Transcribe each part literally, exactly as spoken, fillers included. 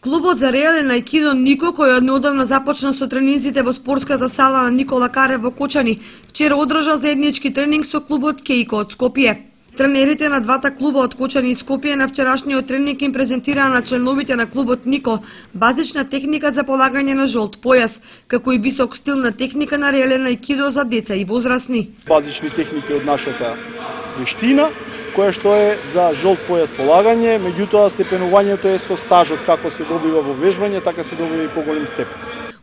Клубот за реален аикидо Нико, кој однеодамна започна со тренинзите во спортската сала на Никола Карев во Кочани, вчера одржа заеднички тренинг со клубот Кейко од Скопје. Тренерите на двата клуба од Кочани и Скопје на вчерашниот тренинг им презентираа на членовите на клубот Нико базична техника за полагање на жолт појас, како и висок стил на техника на реален аикидо за деца и возрастни. Базични техники од нашата вештина, која што е за жолт појас полагање, меѓутоа степенувањето е со стажот, како се добива во вежбање, така се добива и поголем степен.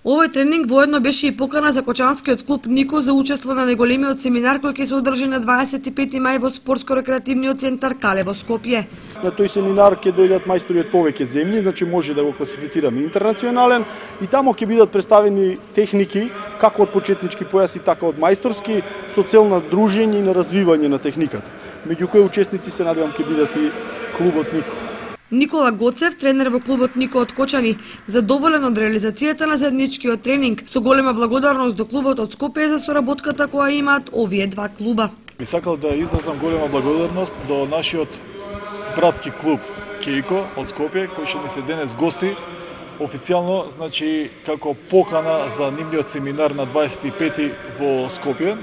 Овој тренинг воедно беше и покана за Кочанскиот клуб Нико за учество на неголемиот семинар кој ќе се одржи на дваесет и пети мај во спортско-рекреативниот центар Кале во Скопје. На тој семинар ќе дојдат мајстори од повеќе земји, значи може да го класифицираме интернационален, и тамо ќе бидат представени техники како од почетнички појаси, така од мајсторски, со цел на дружење и на развивање на техниката. Меѓу кои учесници се надевам ќе бидат и клубот Нико. Никола Гоцев, тренер во клубот Нико од Кочани, задоволен од реализацијата на заедничкиот тренинг, со голема благодарност до клубот од Скопје за соработката која имаат овие два клуба. Би сакал да изразам голема благодарност до нашиот братски клуб Кейко од Скопје, кој ќе ни се денес гости официјално, значи како покана за нивниот семинар на дваесет и пети во Скопје,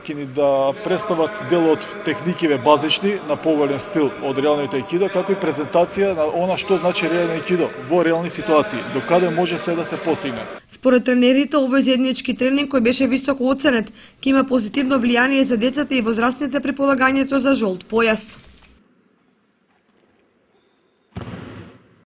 ќе ни да представат дел од техникиве базични на поголем стил од реалното аикидо, како и презентација на она што значи реално аикидо во реални ситуации, до каде може се да се постигне. Според тренерите, овој заеднички тренинг кој беше високо оценет, ќе има позитивно влијание за децата и возрастните при полагањето за жолт појас.